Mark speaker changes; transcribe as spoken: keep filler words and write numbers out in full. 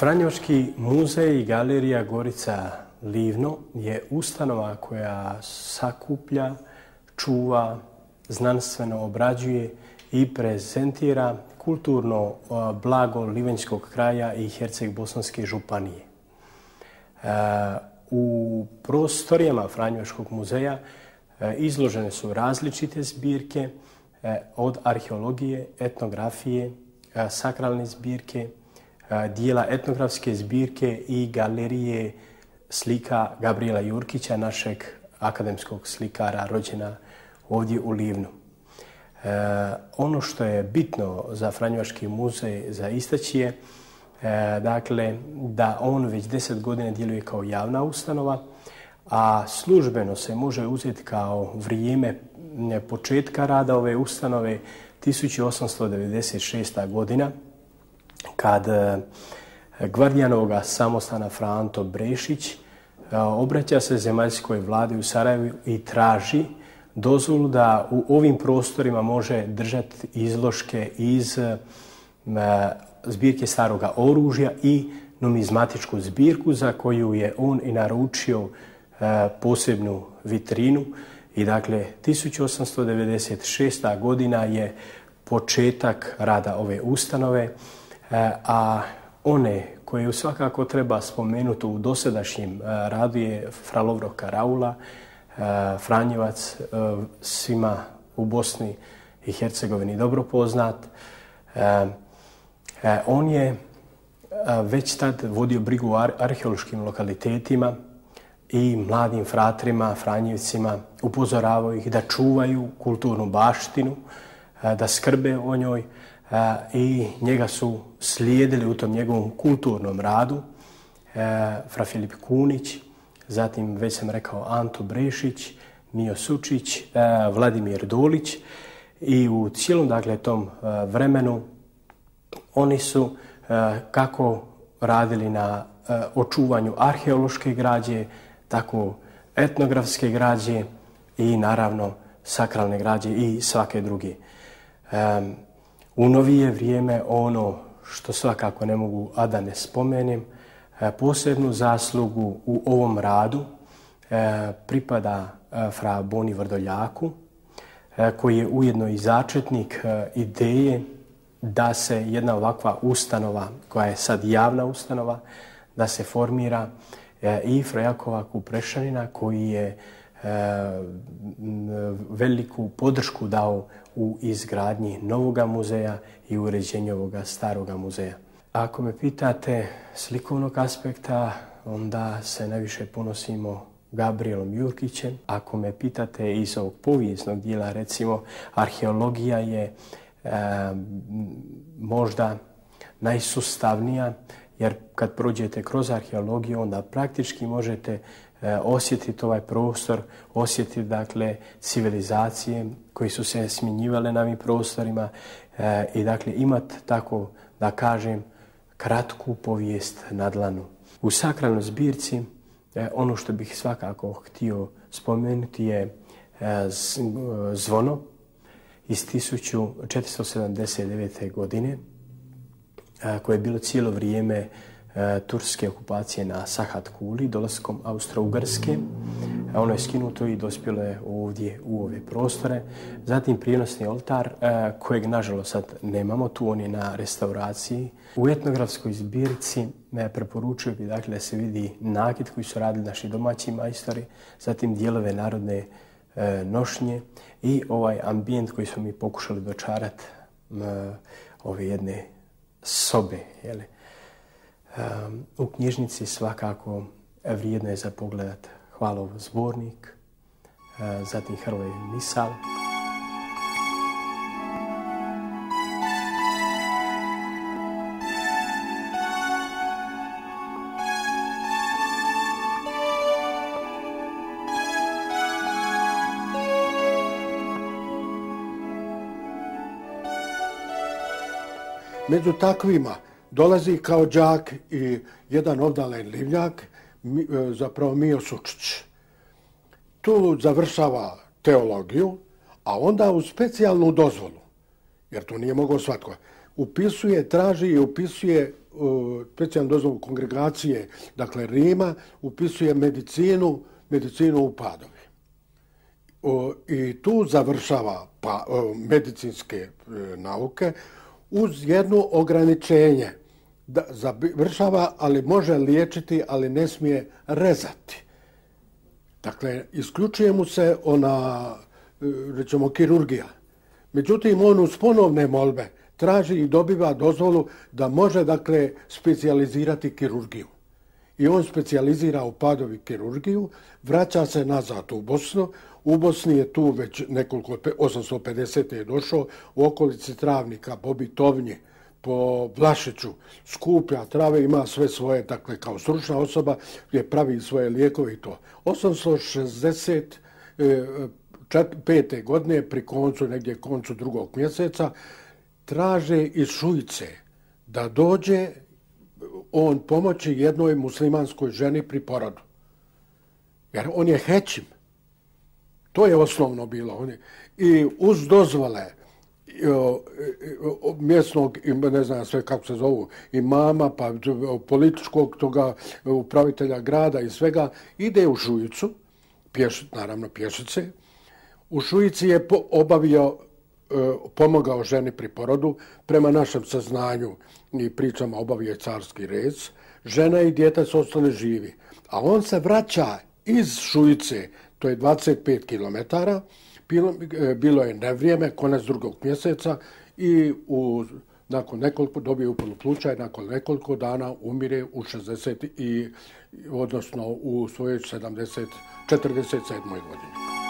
Speaker 1: Franjevački muzej i galerija Gorica Livno je ustanova koja sakuplja, čuva, znanstveno obrađuje i prezentira kulturno blago Livanjskog kraja i Herceg-Bosanske županije. U prostorijama Franjevačkog muzeja izložene su različite zbirke od arheologije, etnografije, sakralne zbirke, dijela etnografske zbirke i galerije slika Gabrijela Jurkića, našeg akademskog slikara rođena ovdje u Livnu. E, ono što je bitno za Franjevački muzej za istaći je e, dakle, da on već deset godina djeluje kao javna ustanova, a službeno se može uzeti kao vrijeme početka rada ove ustanove tisuću osamsto devedeset šesta. godina, kad Gvardijanovoga samostana Fra Anto Brešić obraća se zemaljskoj vladi u Sarajevu i traži dozvolu da u ovim prostorima može držati izložke iz zbirke staroga oružja i numizmatičku zbirku za koju je on i naručio posebnu vitrinu. I dakle, tisuću osamsto devedeset šesta. godina je početak rada ove ustanove, a one koje svakako treba spomenuti u dosadašnjem radu je Fra Lovro Karaula, Franjevac, svima u Bosni i Hercegovini dobro poznat. On je već tad vodio brigu o arheološkim lokalitetima i mladim fratrima, Franjevcima, upozoravao ih da čuvaju kulturnu baštinu, da skrbe o njoj, i njega su slijedili u tom njegovom kulturnom radu Fra Filip Kunić, zatim, već sam rekao, Anto Brešić, Mijo Sučić, Vladimir Dolić, i u cijelom, dakle, tom vremenu oni su kako radili na očuvanju arheološke građe, tako etnografske građe i naravno sakralne građe i svake druge. U novije vrijeme ono što svakako ne mogu a da ne spomenem, posebnu zaslugu u ovom radu pripada Fra Boni Vrdoljaku, koji je ujedno i začetnik ideje da se jedna ovakva ustanova, koja je sad javna ustanova, da se formira, i Fra Jakova Kuprešanina, koji je veliku podršku dao u izgradnji novoga muzeja i uređenju ovoga staroga muzeja. Ako me pitate slikovnog aspekta, onda se najviše ponosimo Gabrijelom Jurkićem. Ako me pitate iz ovog povijesnog dijela, recimo, arheologija je e, možda najsustavnija, jer kad prođete kroz arheologiju, onda praktički možete e, osjetiti ovaj prostor, osjetiti, dakle, civilizacije koji su se smjenjivale na ovim prostorima e, i, dakle, imati, tako da kažem, kratku povijest na dlanu. U sakralnoj zbirci e, ono što bih svakako htio spomenuti je e, zvono iz tisuću četiristo sedamdeset devete. godine, koje je bilo cijelo vrijeme turske okupacije na Sahat Kuli, dolaskom Austro-Ugarske. Ono je skinuto i dospjelo je ovdje u ove prostore. Zatim prijenosni oltar, kojeg nažalost sad nemamo, tu on je na restauraciji. U etnografskoj zbirci preporučio bih, dakle, da se vidi nakit koji su radili naši domaći majstori, zatim dijelove narodne nošnje i ovaj ambijent koji smo mi pokušali dočarati ove jedne sobe. Jeli. Um, u knjižnici svakako vrijedno je za pogledat Hvalov zbornik, uh, zatim Hrvoje misal.
Speaker 2: Među takvima dolazi kao đak i jedan obdalen Livnjak, zapravo Mijo Sučić. Tu završava teologiju, a onda uz specijalnu dozvolu, jer to nije mogao svatko, upisuje, traži i upisuje specijalnu dozvolu kongregacije, dakle Rima, upisuje medicinu, medicinu u Padovi. I tu završava pa, medicinske nauke uz jedno ograničenje. Da, završava, ali može liječiti, ali ne smije rezati. Dakle, isključuje mu se ona, recimo, kirurgija. Međutim, on uz ponovne molbe traži i dobiva dozvolu da može, dakle, specijalizirati kirurgiju. I on specijalizira u Padovi kirurgiju, vraća se nazad u Bosnu. U Bosni je tu već nekoliko, osamsto pedesete je došao, u okolici Travnika, Bobitovnje, po Vlašiću, skuplja trave, ima sve svoje, dakle, kao stručna osoba, gdje pravi svoje lijekove i to. osamsto šezdeset pete godine, pri koncu, negdje koncu drugog mjeseca, traže iz Šujice da dođe on pomoći jednoj muslimanskoj ženi pri porodu. Jer on je hećim. To je osnovno bilo. I uz dozvole mjesnog, ne znam sve kako se zovu, imama, pa političkog toga upravitelja grada i svega, ide u Šujicu, pješ, naravno pješice. U Šujici je obavio, pomogao ženi pri porodu, prema našem saznanju i pričama obavio carski rez. Žena i dijete su ostali živi. A on se vraća iz Šujice, to je dvadeset pet kilometara, bilo, bilo je nevrijeme, konec drugog mjeseca i u, nakon nekoliko, dobio upalnu pluća i nakon nekoliko dana umire u šezdeset i, odnosno u svojoj sedamdeset, četrdeset sedmoj godini.